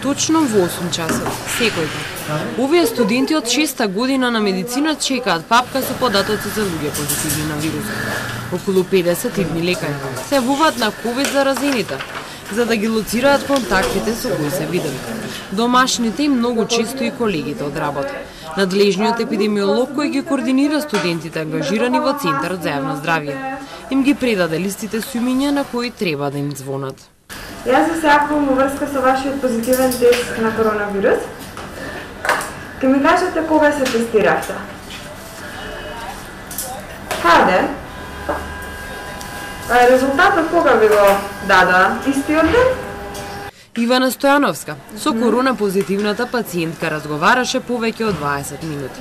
точно во 8 часот, секој ден. Овие студенти од 6-та година на медицина чекаат папка со податоци за луѓе позитивни на вирусот. Околу 50 ивни лекари се јавуваат на ковид заразените, за да ги лоцираат контактите со кои се видели. Домашните и многу често и колегите од работа. Надлежниот епидемиолог кој ги координира студентите ангажирани во Центарот за јавно здравје им ги предаде листите со имиња на кои треба да им звонат. Јас се јавувам во врска со вашиот позитивен тест на коронавирус. Ке ми кажете кога се тестиравте? Каде? Резултатот кога ви го дада? Истиот ден? Ивана Стојановска со корона позитивната пациентка разговараше повеќе од 20 минути.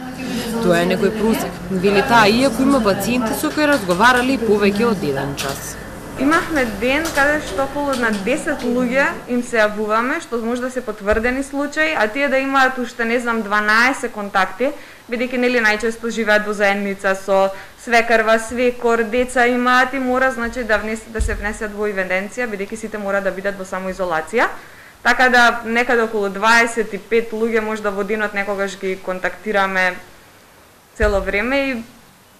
Тоа е некој просек, вели таа, иако има пациенти со кои разговарали повеќе од 1 час. Имавме ден каде што околу на 10 луѓе им се јавуваме, што може да се потврдени случаи, а тие да имаат уште не знам 12 контакти, бидејќи нели најчесто живеат во заедница со свекарва, свекор, деца имаат и мора значи да се внесат во евиденција, бидејќи сите мора да бидат во самоизолација. Така да некаде околу 25 луѓе може да во денот некогаш ги контактираме цело време и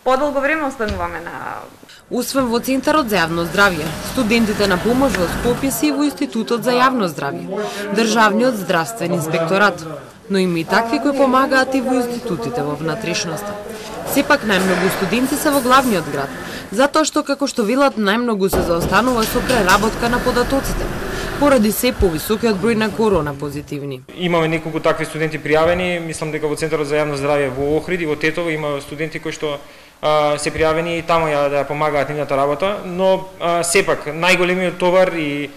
подолго време остануваме на... Освен во Центарот за јавно здравје, студентите на помош во Скопје се и во Институтот за јавно здравје, Државниот здравствен инспекторат, но има и такви кои помагаат и во институтите во внатрешноста. Сепак најмногу студенти се во главниот град, затоа што, како што велат, најмногу се заостанува со преработка на податоците, поради се повисокиот број на корона позитивни. Имаме неколку такви студенти пријавени, мислам дека во Центарот за јавно здравје во Охрид и во Тетово има студенти кои што се пријавени и таму да ја помагаат нивната работа, но сепак најголемиот товар и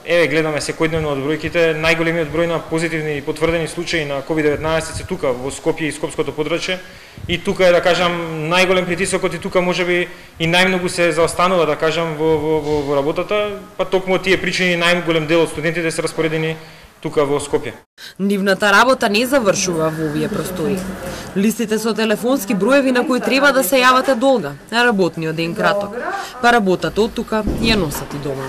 еве гледаме секојдневно од бројките, најголемиот број на позитивни и потврдени случаи на COVID-19 се тука во Скопје и Скопското подрачје и тука е да кажам најголем притисокот и тука можеби и најмногу се заостанува да кажам во работата, па токму тие причини најголем дел од студентите се распоредени тука во Скопје. Нивната работа не завршува во овие простори. Листите со телефонски броеви на кои треба да се јавате долга, а работниот ден краток. Па работата од тука ја носат и дома.